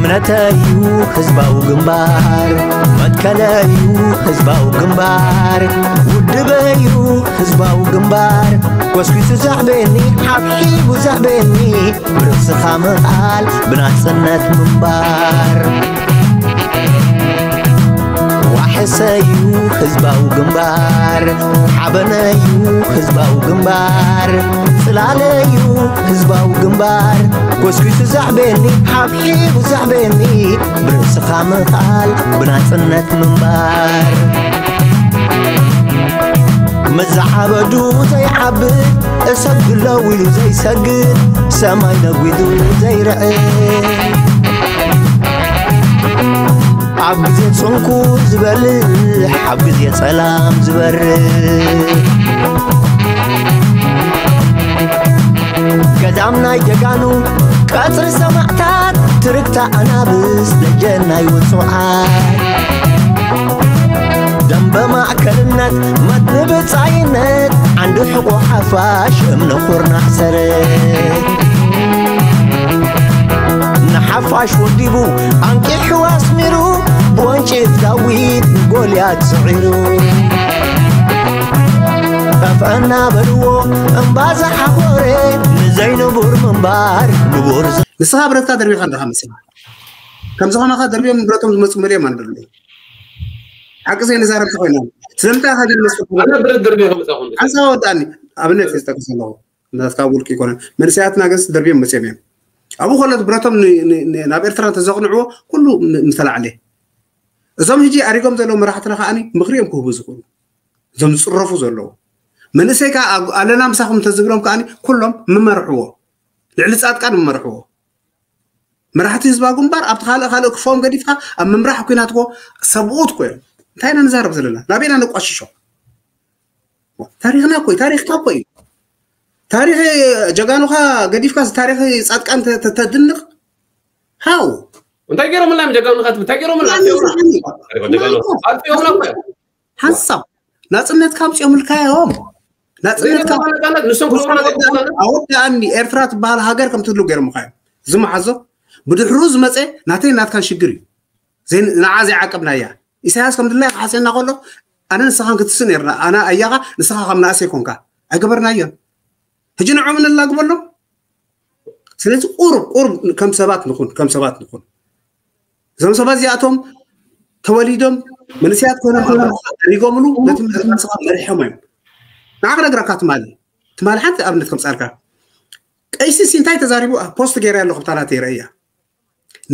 ነተዩ ህዝባዊ ግንባር፣ መትከለዩ ህዝባዊ ግንባር፣ ውድበዩ ህዝባዊ ግንባር፣ ጎስጒሱ ዘዕቤኒ፣ ሓብሒቡ ዘዕቤኒ፣ ብርእስኻ ምኽኣል ብናጽነት ምንባር። ዋሕሰዩ ህዝባዊ ግንባር፣ ሓበነዩ ህዝባዊ ግንባር፣ ጽላለዩ ህዝባዊ ግንባር፣ ጎስጒሱ ዘዕቤኒ፣ ሓብሒቡ ዘዕቤኒ፣ ብርእስኻ ምኽኣል ብናጽነት ምንባር። መዛዓበዱ ዘይዓብድ፣ እሰግድ ለው ኢሉ ዘይሰግድ፣ ሰማይ ነጒዱ ዘይርዕድ፣ ኣብ ግዜ ጽንኩ ዝበልሕ፣ ኣብ ግዜ ጸላም ዝበርድ፣ ገዳም ናይ ጀጋኑ፣ ቀጽሪ ሰማዕታት፣ ትርግታ ኣናብስ፣ ደጀን ናይ ውጹዓት፣ ደንበ ማእከልነት፣ መትኒ ብጻይነት፣ ዓንዲ ሕቖ ሓፋሽ፣ እምነ ኩርናዕ ሰረት፣ ንሓፋሽ ወዲቡ፣ ኣንቂሑ ኣስሚሩ፣ ብወንጭፍ ዳዊት ንጎልያድ ስዒሩ። ጠፍአና በልዎ እምባ ዝሓኾረ፣ ንዘይንቡር ምንባር ንቡር ዝ- ንስኻ ብረትካ ደርቢኻ ኣለኻ መሲልካ። ከምዚ ከማኻ ደርቢዮም ብረቶም ዝመፁ መሊኦም ኣለዉ። ሓቂ ዘይንዛረብ ተኾይና ስለምንታይ ኢኻ ግን መስጠት ኣነ ብረት ደርቢ ከምጻኹም። ሓንሳብ ወዳእኒ ኣብነት እየ ዝጠቅስ ኣለኹ። ናትካ ውልቂ ይኮነ። መንእሰያትና ግን ደርቢዮም መፅዮም እዮም። ኣብኡ ከሎ ብረቶም ን- ን- ን- ናብ ኤርትራ እንተዘቕንዕዎ ኩሉ ም- ምተላዕለ። እዞም ሕጂ ኣሪጎም ዘለዉ መራሕትና ከዓኒ ምኽሪ እዮም ክህቡ ዝኽእሉ። እዞም ዝፅረፉ ዘለዉ መንእሰይ ከዓ ኣብ- ኣለና ምሳኹም እንተዝብሎም ከዓኒ ኩሎም ምመርሕዎ፣ ልዕሊ ፃድቃን ምመርሕዎ። መራሕቲ ህዝባዊ ግንባር ኣብቲ ካልእ ካልእ ክፎም ገዲፍካ ኣብ ምምራሕ ኩናት ኮ ሰብኡት ኮ እዮም። እንታይ ኢና ንዛረብ ዘለና? ናበይና ነቋሽሾ? ታሪኽና ኮ እዩ፣ ታሪኽካ ኮ እዩ። ታሪኽ ጀጋኑኻ ገዲፍካ ታሪኽ ፃድቃን ተ- ተ- ተድንቕ? ሃው እንታይ ገይሮምልና እዮም ጀጋኑኻ ትብል? እንታይ ገይሮምልና? ኣጥፊኦምና። ታሪኽ ጀጋኑ ኣጥፊኦምና እኮ እዮም። ሓንሳብ ናፅነትካ ኣምፂኦምልካ እዮም። ናፅነትካ ዘይነበረ ናፃነት ንሶም ክህቡና ዘይኮነ ኣወዳእኒ ኤርትራ ትበሃል ሃገር ከም ትህሉ ገይሮምኻ እዮም። ዝመሓዞ ብድሕሩ ዝመፀ ናተይ ናትካን ሽግር እዩ። ዘይ- ንዓ ዘይዓቀብናያ ኢሳያስ ከም ድላይ ክሓስየና ከሎ ኣነ ንስኻን ክትስእ ነርና ኣነ ኣያኻ ንስኻ ከም ንኣሰይ ኮንካ ኣይገበርናዮን። ሕጂ ንዖም ነላግበሎም። ስለዚ ቁሩብ ቁሩብ ከም ሰባት ንኹን ከም ሰባት ንኹን። እዞም ሰባት እዚኣቶም ተወሊዶም መንእሰያት ኮይኖም ኮይኖም ሪጎምሉ ነቲ ነቲ ንስኻ መሪሖም እዮም። ንዓ ክነግረካ ትማሊ ትማሊ ሓንቲ ኣብነት ከምፃልካ ቀይሲ ሲ እንታይ ተዛሪቡ ፖስት ገይረ ኣለኹ ብታላት ይረእያ።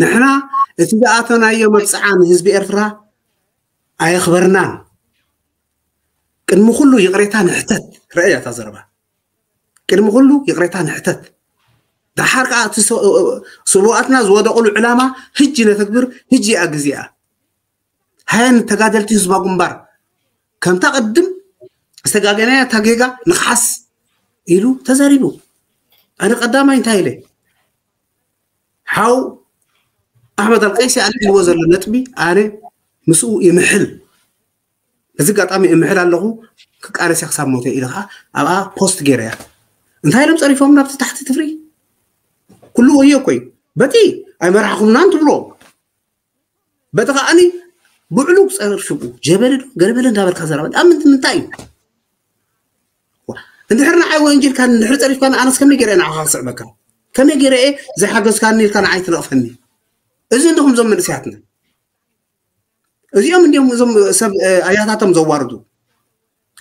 ንሕና እቲ ዝኣተናዮ መብፅዓ ንህዝቢ ኤርትራ ኣየኽበርናን። ቅድሚ ኩሉ ይቕሬታ ንሕተት። ረእያ እታ ዘረባ። ቅድሚ ኩሉ ይቕሬታ ንሕተት። ደሓር ከዓ እቲ ሰ- ስውኣትና ዝወደቑሉ ዕላማ ህጂ ነተግብር። ህጂ እያ ግዜኣ። ሃየን ተጋደልቲ ህዝባ ግንባር ከምታ ቅድም ዝተጋገናያ እታ ጌጋ ንክሓስ ኢሉ ተዛሪቡ። ኣነ ቀዳማይ እንታይ ኢለ ሓው ኣሕመድ ኣልቀይሲ ኣልዒልዎ ዘሎ ነጥቢ ኣነ ምስኡ ይምሕል። እዚ ኣጋጣሚ እምሕል ኣለኹ። ክቃለስ እየ ክሳብ ሞተ ኢለ ከዓ ኣብኣ ፖስት ገይረ እያ። እንታይ ኢሎም ፀሪፎም ናብቲ ታሕቲ ትፍሪ ኩሉ ወዮ እኮ እዩ። በቲ ኣይመራሕኹምናን ትብሎ በቲ ከዓኒ ብዕሉግ ፀርፍቁ ጀበለ ዶ ገለበለ እንዳበልካ ዘረባ ኣብ ምንት ምንታይ እዩ? ዋ፣ እንድሕር ንዓይ ወንጀልካ እንድሕር ፀሪፍካ ኣነስ ከመይ ገይረ ንዓኻ ክስዕበካ? ከመይ ገይረ እየ ዘይሓገዝካኒ ኢልካ ንዓይ ትነቕፈኒ? እዚ እንዲኹም ዞም መንእሰያትና እዚኦም እንዲኦም እዞም ሰብ ኣያታቶም ዘዋርዱ።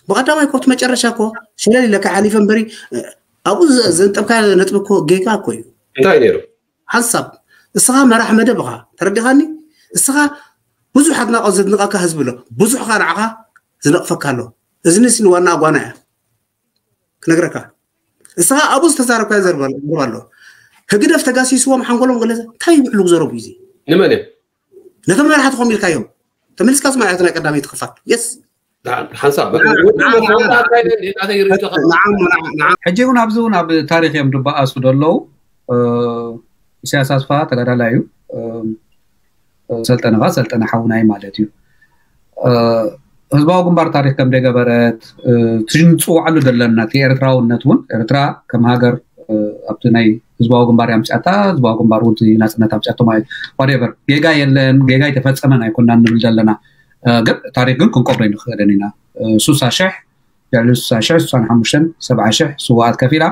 ብቐዳማይ ኮ እቲ መጨረሻ ኮ ሸለል ኢለካ ሓሊፈ እምበሪ ኣብኡ ዘንጠብካ ነጥቢ ኮ ጌጋ እኮ እዩ። እንታይ ነይሩ? ሓንሳብ እስኻ መራሕ መደብ ኢኻ። ተረዲኻኒ? እስኻ ብዙሕ ኣድናቆት ዘድንቐካ ህዝቢ ኣሎ። ብዙሕ ኻ ንዓኻ ዝነቕፈካ ኣሎ። እዝንስ ንዋና ኣጓና እያ ክነግረካ። እስኻ ኣብኡ ዝተዛረብካዮ ዘረባ ኣሎ። ህግደፍ ተጋሲስዎም ሓንጎሎም ገለ እንታይ ይብዕሉ ዘረቡ እዩ። ንመን እዮም? ነቶም መራሕቲ ኮም ኢልካዮም ተመሊስካ ስማዕ። እቲ ናይ ቀዳመይቲ ክፋል የስ ሓንሳብ በቃ ወዲ መፍረምታ ኣካይደ እንዴት ኣተ ይርድኻ? ንዓም ንዓም ንዓም ሕጂ እውን ኣብዚ እውን ኣብ ታሪክ እዮም ድበኣሱ ደለዉ። ኢሳያስ ኣስፋ ተጋዳላይ እዩ። ሰልጠነ ኸዓ ሰልጠነ ሓውናይ ማለት እዩ። ህዝባዊ ግንባር ታሪክ ከም ደገበረት እቲ ንፅውዓሉ ዘለና እቲ ኤርትራውነት እውን ኤርትራ ከም ሃገር ኣብቲ ናይ ህዝባዊ ግንባር ኣምፅኣታ፣ ህዝባዊ ግንባር እውን ናፅነት ኣምፅኣቶ ማለት ዋደበር ጌጋ የለን፣ ጌጋ ኣይተፈፀመን ኣይኮናን ንብል ዘለና። ግን ታሪክ ግን ክንቆብሮ ንክእልን ኢና። ሱሳ ሽሕ ልዕሊ ሱሳ ሽሕ ሱሳን ሓሙሽተን ሰብዓ ሽሕ ስዋኣት ከፊላ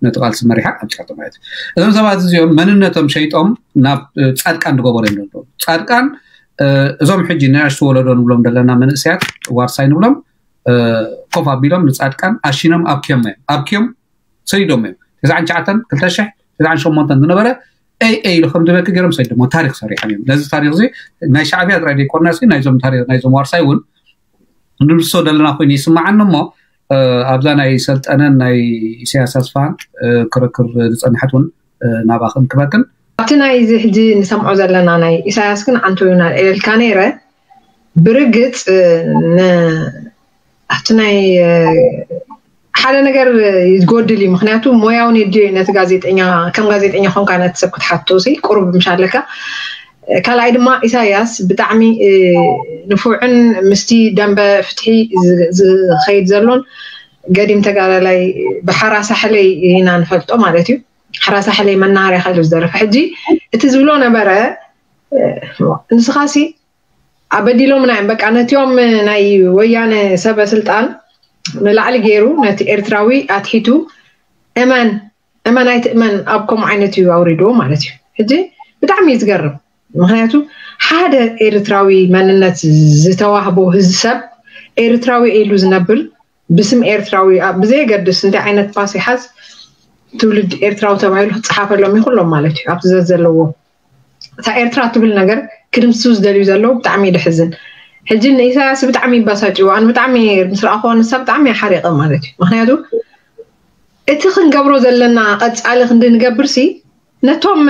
ነቲ ቃልሲ መሪሓ ኣምፅኣቶ ማለት እዩ። እዞም ሰባት እዚኦም መንነቶም ሸይጦም ናብ ፃድቃን ዝገበሩ እዮም ዘለዉ። ፃድቃን እዞም ሕጂ ንኣሽቱ ወለዶ ንብሎም ዘለና መንእሰያት ዋርሳይ ንብሎም ኮፍ ኣቢሎም ንፃድቃን ኣሽኖም ኣብኪዮም እዮም ኣብኪዮም ሰዲዶም እዮም። ተስዓን ትሽዓተን ክልተ ሽሕ ተስዓን ሸሞንተን ዝነበረ ኤይ ኤይ ኢሉ ከም ዝበኪ ገይሮም ሰዲዶም ታሪክ ሰሪሖም እዮም። ነዚ ታሪክ እዚ ናይ ሻዕብያ ጥራይ ዘይኮና ናይዞም ዋርሳይ እውን ንልሶ ዘለና ኮይኑ ይስማዓኒ እሞ ኣብዛ ናይ ሰልጠነን ናይ ኢሳያስ ኣስፋን ክርክር ዝፀንሐት እውን ናባኽን ክበክን ኣብቲ ናይ እዚ ሕጂ ንሰምዖ ዘለና ናይ ኢሳያስ ግን ኣንቶዮና ኢልካ ነይረ ብርግፅ ኣብቲ ናይ ሓደ ነገር ይጎድል እዩ። ምክንያቱ ሞያውን የድልዮ ነቲ ጋዜጠኛ ከም ጋዜጠኛ ኮንካ ነቲ ሰብ ክትሓቶ ሲ ቁሩብ ምሻለካ። ካልኣይ ድማ ኢሳያስ ብጣዕሚ ንፉዕን ምስቲ ደንበ ፍትሒ ዝኸይድ ዘሎን ገዲም ተጋዳላይ ብሓራ ሳሕለይ ኢና ንፈልጦ ማለት እዩ። ሓራ ሳሕለይ መናሃርያ ከሉ ዝደረፈ ሕጂ እቲ ዝብሎ ነበረ ንስኻ ሲ ኣበዲሎምና እዮም በቃ ነቲኦም ናይ ወያነ ሰበ ስልጣን ንላዕሊ ገይሩ ነቲ ኤርትራዊ ኣትሒቱ እመን እመን ኣይትእመን ኣብ ከምኡ ዓይነት እዩ ኣውሪድዎ ማለት እዩ። ሕጂ ብጣዕሚ እዩ ዝገርም። ምክንያቱ ሓደ ኤርትራዊ መንነት ዝተዋህቦ ህዝ ሰብ ኤርትራዊ ኢሉ ዝነብር ብስም ኤርትራዊ ብዘየገድስ እንታይ ዓይነት ፓስ ይሓዝ ትውልድ ኤርትራዊ ተባሂሉ ክፀሓፈሎም ይክሎም ማለት እዩ። ኣብቲ ዘዘለዎ እታ ኤርትራ ትብል ነገር ክድምስሱ ዝደልዩ ዘለዉ ብጣዕሚ ደሕዝን። ሕጂ ንኢሳያስ ብጣዕሚ ይባሳጭዎ ኣነ ብጣዕሚ ምስ ረኣኹዎ ንሳ ብጣዕሚ ሓሪቐ ማለት እዩ። ምክንያቱ እቲ ክንገብሮ ዘለና ቀፃሊ ክንዲ ንገብር ሲ ነቶም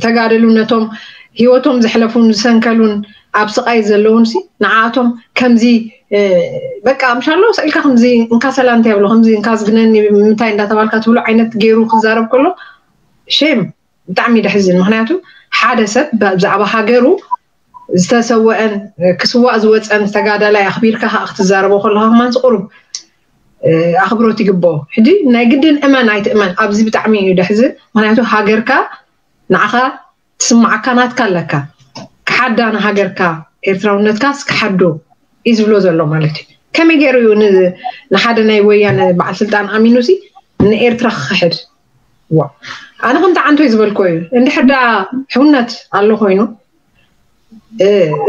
ተጋደሉ ነቶም ህይወቶም ዘሕለፉን ዝሰንከሉን ኣብ ስቃይ ዘለውን ሲ ንዓኣቶም ከምዚ በቃ ምሻሎ ስእልካ ከምዚ እንካ ሰላምታ የብሎ ከምዚ እንካ ዝግነኒ ምንታይ እንዳተባልካ ትብሎ ዓይነት ገይሩ ክዛረብ ከሎ ሼም ብጣዕሚ ደሕዝን። ምክንያቱ ሓደ ሰብ ብዛዕባ ሃገሩ ዝተሰወአን ክስዋእ ዝወፀን ተጋዳላይ ኣኽቢርካ ከዓ ክትዛረቦ ከለካ ከማን ቁሩብ ኣኽብሮት ይግብኦ። ሕጂ ናይ ግድን እመን ኣይትእመን ኣብዚ ብጣዕሚ እዩ ደሕዝን። ምክንያቱ ሃገርካ ንዓኻ ትስማዓካ ናትካ ኣለካ ክሓዳ ንሃገርካ ኤርትራውነትካስ ክሓዶ እዩ ዝብሎ ዘሎ ማለት እዩ። ከመይ ገይሩ እዩ ንሓደ ናይ ወያነ በዓል ስልጣን ኣሚኑ ሲ ንኤርትራ ክኽሕድ ዋ ኣነ ከምቲ ዓንቶይ ዝበልኮ እዩ እንድሕር ዳ ሕውነት ኣሎ ኮይኑ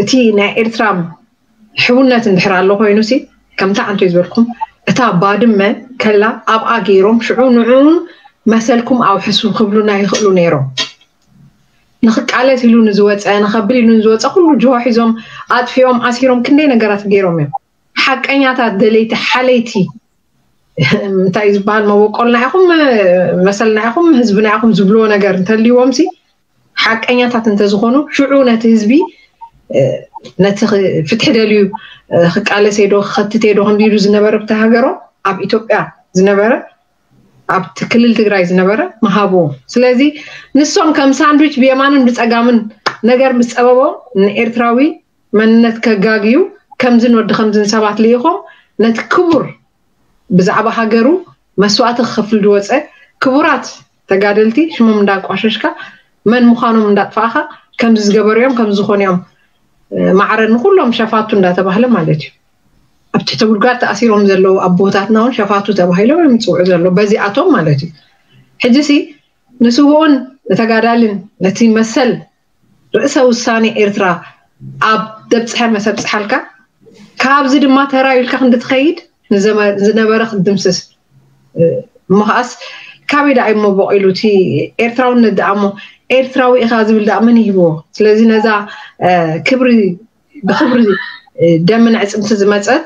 እቲ ናይ ኤርትራ ሕውነት እንድሕር ኣሎ ኮይኑ ሲ ከምቲ ዓንቶይ ዝበልኩም እታ ባድመ ከላ ኣብኣ ገይሮም ሽዑ ንዕኡን መሰልኩም ኣውሕሱ ክብሉና ይኽእሉ ነይሮም። ንክቃለስ ኢሉ ንዝወፀ ንከብል ኢሉ ንዝወፀ ኩሉ ጅሆ ሒዞም ኣጥፊኦም ኣሲሮም ክንደይ ነገራት ገይሮም እዮም። ሓቀኛታት ደለይቲ ሓለይቲ እንታይ ዝበሃል መበቆልና ኢኹም መሰልና ኢኹም ህዝብና ኢኹም ዝብልዎ ነገር እንተልይዎም ሲ ሓቀኛታት እንተዝኾኑ ሽዑ ነቲ ህዝቢ ነቲ ፍትሒ ደልዩ ክቃለስ ዶ ክኸትት ዶ ክንዲሉ ዝነበረ ብቲ ሃገሮም ኣብ ኢትዮጵያ ዝነበረ ኣብቲ ክልል ትግራይ ዝነበረ ምሃብዎ። ስለዚ ንሶም ከም ሳንድዊች ብየማንን ብፀጋምን ነገር ምስ ፀበቦም ንኤርትራዊ መንነት ከጋግዩ ከምዝን ወዲ ከምዝን ሰባት ልኢኾም ነቲ ክቡር ብዛዕባ ሃገሩ መስዋእቲ ክኸፍል ዝወፀ ክቡራት ተጋደልቲ ሽሞም እንዳቋሸሽካ መን ምዃኖም እንዳጥፋእኻ ከምዚ ዝገበሩ እዮም ከምዚ ዝኾኑ እዮም ማዕረ ንኩሎም ሸፋቱ እንዳተባህለ ማለት እዩ። ኣብ ትሕቲ ጉድጓድ ተኣሲሮም ዘለዉ ኣቦታትና እውን ሸፋቱ ተባሂሎም እዮም ዝፅውዑ ዘለዉ በዚኣቶም ማለት እዩ። ሕጂ ሲ ንስውኡን ንተጋዳልን ነቲ መሰል ርእሰ ውሳኔ ኤርትራ ኣብ ደብፅሐ መሰብፅሓልካ ካብዚ ድማ ተራ ኢልካ ክንዲ ትኸይድ ዝነበረ ክትድምስስ እሞ ከዓስ ካበይ ደኣ እሞ በቂሉ እቲ ኤርትራውነት ደኣ እሞ ኤርትራዊ ኢኻ ዝብል ደኣ መን ይህብዎ? ስለዚ ነዛ ክብሪ ብክብሪ ደምን ዕፅምቲ ዝመፀት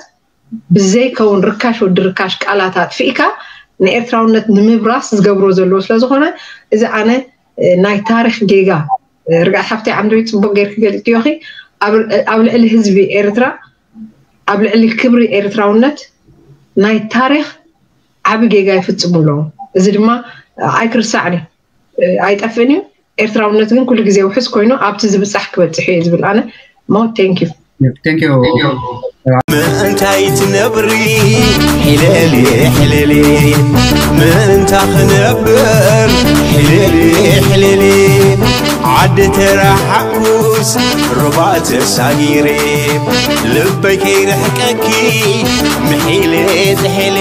ብዘይከውን ርካሽ ወዲ ርካሽ ቃላት ኣጥፊእካ ንኤርትራውነት ንምብራስ ዝገብሮ ዘለዎ ስለዝኾነ እዚ ኣነ ናይ ታሪክ ጌጋ ርግኣት ሓፍተይ ዓንዶይ ፅቡቅ ገይርኪ ገሊፅክዮ ኢኺ ኣብ ልዕሊ ህዝቢ ኤርትራ ኣብ ልዕሊ ክብሪ ኤርትራውነት ናይ ታሪክ ዓቢ ጌጋ ይፍፅሙ ኣለዉ። እዚ ድማ ኣይክርሳዕን እዩ ኣይጠፍእን እዩ። ኤርትራውነት ግን ኩሉ ግዜ ውሕስ ኮይኑ ኣብቲ ዝብፃሕ ክበፅሕ እዩ ዝብል ኣነ ሞት thank you Thank you. ምእንታይ ትነብሪ ሕለሊ ሕለሊ ምእንታ ክነብር ሕለሊ ሕለሊ ዓዲ ተረሓኩስ ሩባ ተሳጊረ ልበይ ከይርሕቀኪ ምሒለ ጥሒለ